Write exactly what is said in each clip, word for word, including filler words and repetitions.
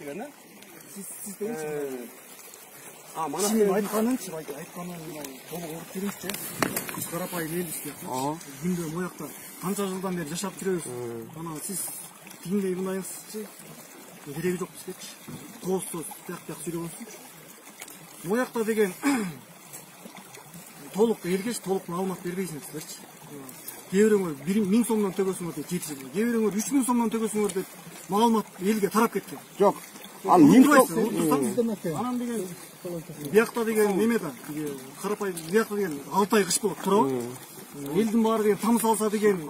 деген, а? Siz siz demişsiniz. А, мана Сен айтканыңчы, айтканын толук уруп беришчи. Биз карапайым эл иштеп, күндө моякта канча жылдан бери жашап жүрөбүз. Анан сиз тигиндей мындайсызчы. Кереги жок бизгечи. Тоосуз, тияк-тияк сүйлөгөнсүзчү. Моякта деген толук эргеш, толук маалымат бербейсиңерчи. Кээ бирөөңөр бир миң сомдон төгөсүңөр деп жетишет. Кээ бирөөңөр үч миң сомдон төгөсүңөр деп маалымат элге тарап кеткен. Жок. Ал миң сом. Анан деген биякта деген неме да, карапайым биякта деген алты ай кыш болот, туурабы? Элдин баары деген тамыз алса деген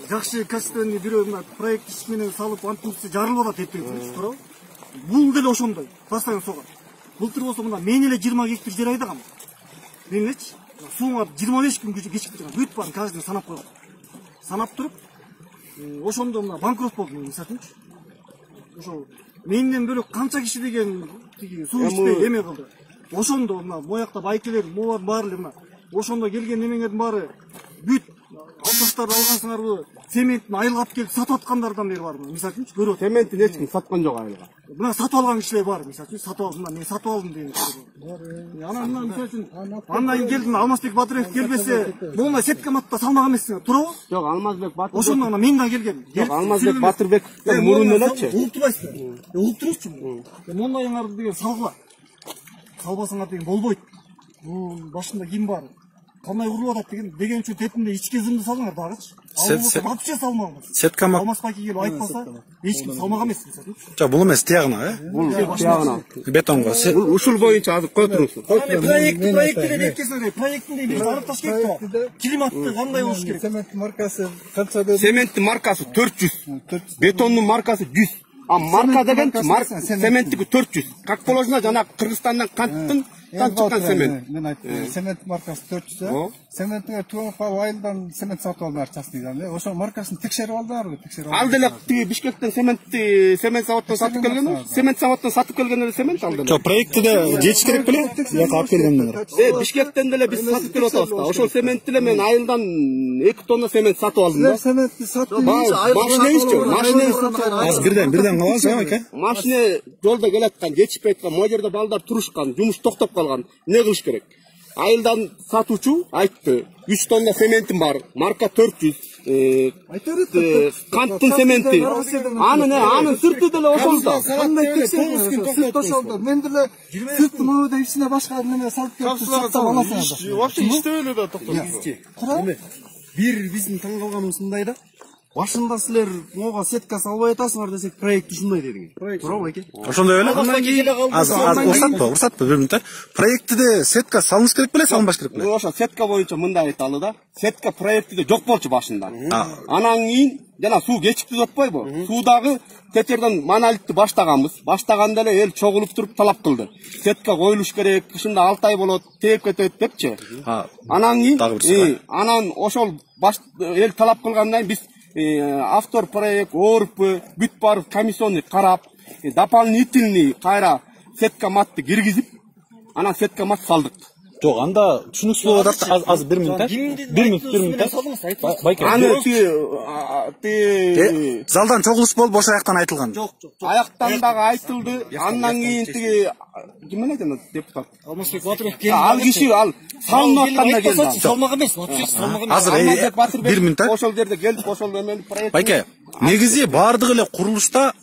жакшы качественный бирөө мына проект иш менен салып антимси жарылып атат эптеп, туурабы? Бул деле ошондой, постоянно согат. Былтыр болсо мына мен эле жыйырма гектар жер айдагам. Мен элечи сууңа жыйырма беш күн кечиктип турган. Бүт баарын каждый санап койгон. Санап туруп, ошондо мына банкрот болдум, мисалычы. Ошо менден бөлөк канча киши деген тиги суу ичпей эме кылды. Ошондо мына моякта байкелер, моолар баары эле мына ошондо келген немеңердин баары бүт алташтарды алгансыңарбы? Цементин айылга алып келип сатып аткандардан бери бар, мисалычы көрүп атам. Цементин эч ким саткан жок айылга. Мына сатып алган кишилер бар, мисалычы сатып алдым, мен сатып алдым деген кишилер бар. Анан мына мисалычы андан кийин келдим, Алмазбек Батырбек келбесе, моундай сетка матта салмаган эмессиңер, туурабы? Жок, Алмазбек Батырбек. Ошондо мына мен да келгем. Жок, Алмазбек Батырбектен мурун элечи. Улуктубайсыздар. Улук турушчу. Мондайыңарды деген салгыла. Салбасаңар деген болбойт. Бул башында ким бар? Кандай уруп атат деген деген үчүн тетинде ички зымды салыңар дагычы. Ал вообще салмаган. Сетка мак. Алмазбек келип айтпаса, эч ким салмаган эмес, мисалы. Жок, бул эмес, тиягына, э? Бул тиягына. Бетонго. Бул ушул боюнча азыр кой туруңуз. Проект, проектте деп кетсеңер, проекттинде биз арыкташ керек да. Климатты кандай болуш керек? Цемент маркасы канча деп? Цементтин маркасы төрт жүз. Бетондун маркасы жүз. А марка деген цементтики төрт жүз. Как положено жана Кыргызстандан канттын Там чыккан цемент. Мен айттым, цемент маркасы төрт жүз. Цементке туган калып айылдан цемент сатып алдылар частныйдан. Ошо маркасын текшерип алдыларбы? Текшерип Ал деле тиги Бишкектен цементти цемент заводдон сатып келген, цемент заводдон сатып келген эле цемент ал деле. Жок, проектиде жетиш керек беле? Бияка алып келгендер. Э, Бишкектен деле биз сатып келип атабыз да. Ошол цементти эле мен айылдан эки тонна цемент сатып алдым да. Цементти сатып машинебизчи, машине. Азыр бирден бирден калабыз, э, ака? Машине жолдо келаткан, жетишпей аткан, могу жерде балдар турушкан, жумуш токтоп калган. Не кылыш керек? Айылдан сатуучу айтты, үч тонна цементим бар, марка төрт жүз. Э, канттын цементи. Анын, анын сырты деле ошол да. Кандай текшерип сырт ошолдо. Мен деле сырты могуда ичине башка неме салып келип сатып аласың. Вообще иштебей эле да токтойсуз. Бир биздин таң калганыбыз мындай да. Башында силер могуга сетка салбай атасыңар десек, проект ушундай дедиңер. Туурабы эке? Ошондой эле. Андан кийин азыр урсатпы, урсатпы бир минут. Проектиде сетка салыныш керек беле, салынбаш керек беле? Ошо сетка боюнча мындай айталы да. Сетка проектиде жок болчу башында. Анан кийин жана суу кечиктип атпайбы? Суудагы течерден монолитти баштаганбыз. Баштаганда эле эл чогулуп туруп талап кылды. Сетка коюлуш керек, ушунда алты ай болот, тээп кетет депчи. Анан кийин анан ошол эл талап кылгандан биз автор проект, ОРП, бүт бар комиссионный карап, дополнительный кайра сетка матты киргизип, анан сетка мат салдык. Жок, анда түшүнүксүз болуп атат. Азыр бир минут. бир минут, бир минут. Байке. Аны ти залдан чогулуш болуп ошол жактан айтылган. Жок, жок. Аяктан дагы айтылды. Андан кийин тиги ким менен депутат? Алмазбек Батырбек келди. Ал киши ал салынып атканда келди. Салмаган эмес, вообще салмаган эмес. Азыр бир минут. Ошол жерде келип, ошол эмени проект. Байке, негизи баардык эле курулушта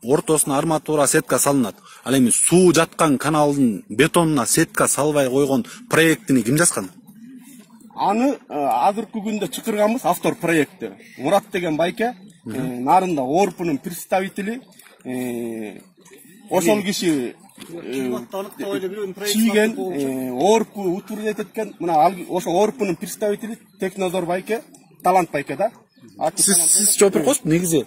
ортосуна арматура, сетка салынат. Ал эми суу жаткан каналдын бетонуна сетка салбай койгон проектини ким жазган? Аны азыркы күндө чакырганбыз автор проектти. Мурат деген байке, нарында ОРПнун представители, ошол киши чийген, ОРП утверждать эткен. Мына ошо ОРПнун представители Технозор байке, Талант байке да. Сиз жооп бериңиз, негизи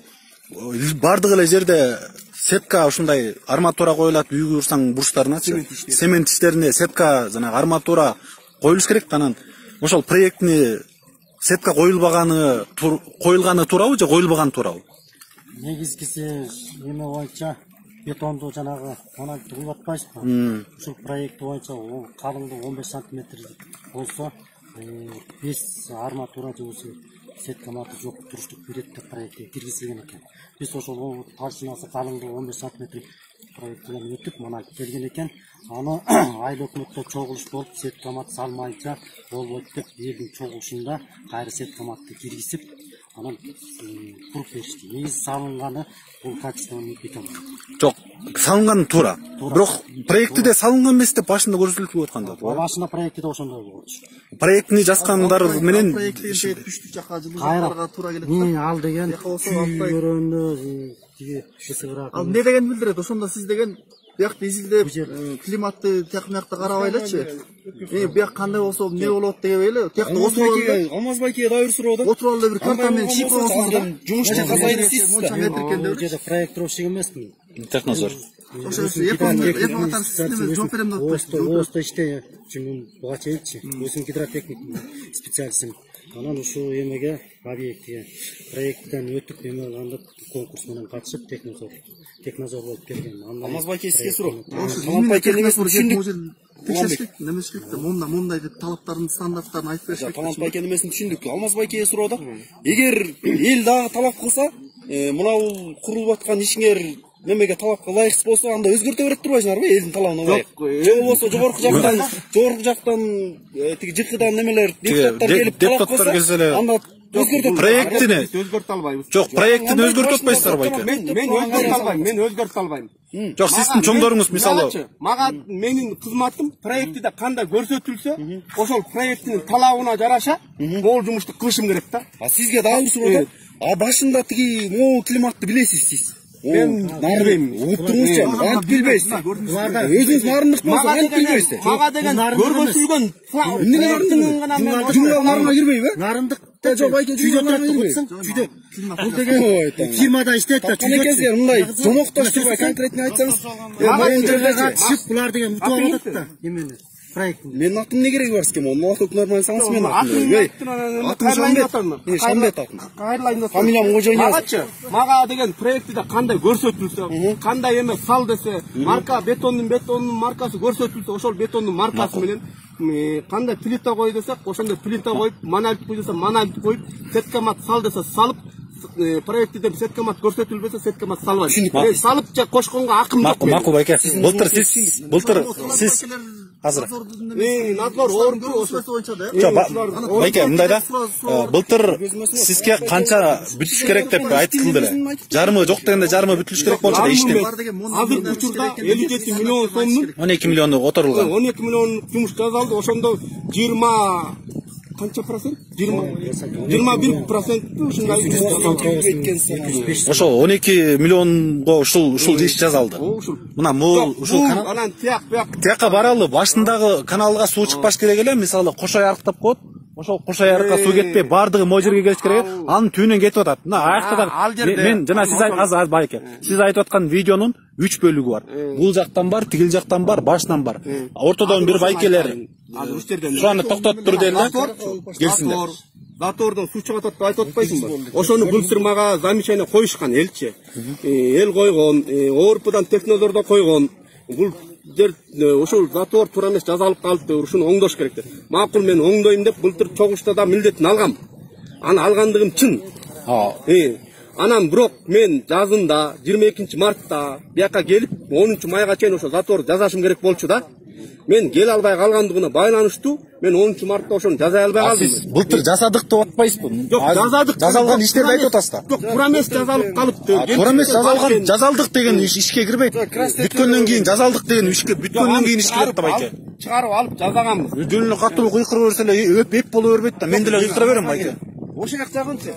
бардык эле жерде сетка ушундай арматура коюлат, үйгө урсаң бурчтарыначы. Цемент иштерине сетка жана арматура коюлуш керек. Анан ошол проектини сетка коюлбаганы коюлганы туурабы же коюлбаганы туурабы? Негизгиси эме боюнча бетонду жанагы монолитти куюп атпайсызбы? Ушул проект боюнча калыңдыгы он беш сантиметр болсо, беш арматура же болсо сеткаматы жок туруштук берет деп проектке киргизилген экен. Биз ошол толщинасы калыңдыгы он беш сантиметр проекттен өтүп мына келген экен. Аны айыл өкмөттө чогулуш болуп сеткамат салмайча болбойт деп элдин чогулушунда кайра сеткаматты киргизип анан куруп беришти. Негизи салынганы бул качественный бетон. Жок, салынганы туура. Бирок проектиде салынган эмес деп башында көрсөтүлүп атканда. Башында проектиде ошондой болчу. Проектини жазгандар менен түштүк жака жылууларга туура келет. Ал деген көрөндө тиги ысыгыраак. Ал эмне деген билдирет? Ошондо сиз деген биякты изилдеп климатты тияк мыякта карабайлычы. Э бияк кандай болсо эмне болот дегебей эле. Тиякта отуруп Алмаз байкеге да бир суроо да. отуруп алып бир карта менен чип койсоңуздар. Жумушчу казайды сиз да. Бул жерде проектировщик эмесмин. технозор. Ошо Япония система жооп берем деп атпайсызбы? Оста иште жүмүн буга чейинчи. Өзүм гидротехник специалистим. Анан ушул эмеге объектке проекттен өтүп эме алганда конкурс менен катышып технозор технозор болуп келген. Алмаз байке сизге суроо. Алмаз байке эмесин түшүндүк. Текшеришкек, немеш керек да, монда мондай деп талаптарын, стандарттарын айтып бериш керек. Алмаз байке эмесин түшүндүк. Алмаз байкеге суроо да. Эгер эл дагы талап кылса, мына бул курулуп аткан ишиңер немеге талапка ылайыксыз болсо, анда өзгөртө берет турбайсыңарбы элдин талабына ылайык? Же болбосо жогорку жактан, жогорку жактан тиги жыкыдан немелер депутаттар келип талап кылса, анда өзгөртө проектини өзгөртө албайбыз. Жок, проектини өзгөртө атпайсыздар байке. Мен мен өзгөртө албайм, мен өзгөртө албайм. Жок, сиздин чоңдоруңуз мисалы мага менин кызматым проектиде кандай көрсөтүлсө, ошол проекттин талабына жараша могул жумушту кылышым керек да. А сизге дагы суроо да. А башында тиги могул климатты билесиз сиз? Мен нарым угуп туруңузчу, антип билбейсиз. Өзүңүз нарындык болсо антип билбейсиз. Мага деген көргөзүлгөн жумгаларына кирбейби? Нарындык жок байке жүйдө жүйдө. Бул деген фирмада иштейт да жүйдө. Мындай жомоктош турбай конкретный айтсаңыз. Мага жерде катышып булар деген утуп алат да. Эмени? Проект. Менин атым эмне кереги бар сизге? Могул өкмөт айтсаңыз менин атым. Атым Шамбет. Шамбет атым. Фамилиям Кожониязов. Магачы, мага деген проектиде кандай көрсөтүлсө, кандай эме сал десе, марка бетондун бетондун маркасы көрсөтүлсө, ошол бетондун маркасы менен кандай плита кой десек, ошондой плита коюп, монолит кой десе, монолит коюп, сеткамат сал десе салып, проектиде сеткамат көрсөтүлбөсө, сеткамат салбайт. Салып же кошконго акым жок. Макул байке. Былтыр сиз, былтыр сиз азыр. Э, надзор орду ошо боюнча да. Жок, байке, мындай да. Былтыр сизге канча бүтүш керек деп айтылды эле. Жарымы жок дегенде жарымы бүтүлүш керек болчу да иштеп. Азыр учурда элүү жети миллион сомдун он эки миллиону которулган. он эки миллион жумуш жасалды. Ошондо жыйырма канча процент? жыйырма бир процент ушундай ошол он эки миллионго ушул ушул иш жасалды. Мына могул ушул канал анан тияк буяк тияка баралы башындагы каналга суу чыкпаш керек эле. Мисалы Кошой арыктап коет. Ошол Кошой арыкка суу кетпей бардыгы могу жерге келиш керек. Анын түбүнөн кетип атат. Мына аякта мен жана сиз азыр байке. Сиз айтып аткан видеонун үч бөлүгү бар. Бул жактан бар, тигил жактан бар, башынан бар. Ортодон бир байкелер азыр үч жерден шуны токтотуп тур деле. Келсиндер. Затордон суу чыгып атат деп айтып атпайсыңбы? Ошону былтыр мага замечание коюшкан элчи. Эл койгон, ОРПдан технозордо койгон. Бул жер ошол затор туура эмес жазалып калыпты, ушуну оңдош керек деп. Макул мен оңдойм деп былтыр чогулушта да милдетин алгам. Аны алгандыгым чын. Э, анан бирок мен жазында жыйырма экинчи мартта бияка келип онунчу майга чейин ошо затор жазашым керек болчу да. Мен келе албай калгандыгына байланыштуу мен онунчу мартта ошону жаза албай калдым. Сиз былтыр жасадык деп атпайсызбы? Жок, жазадык. Жазалган иштерди айтып атасыз да. Жок, туура эмес жазалып калыптыр. Туура эмес жазалган, жазалдык деген ишке кирбейт. Бүткөндөн кийин жазалдык деген ишке, бүткөндөн кийин иш кирет да байке. Чыгарып алып жазаганбыз. Жөн эле катуу кыйкыра берсе эле эп боло бербейт да. Мен деле кыйкыра берем байке. Ошол жагынчы.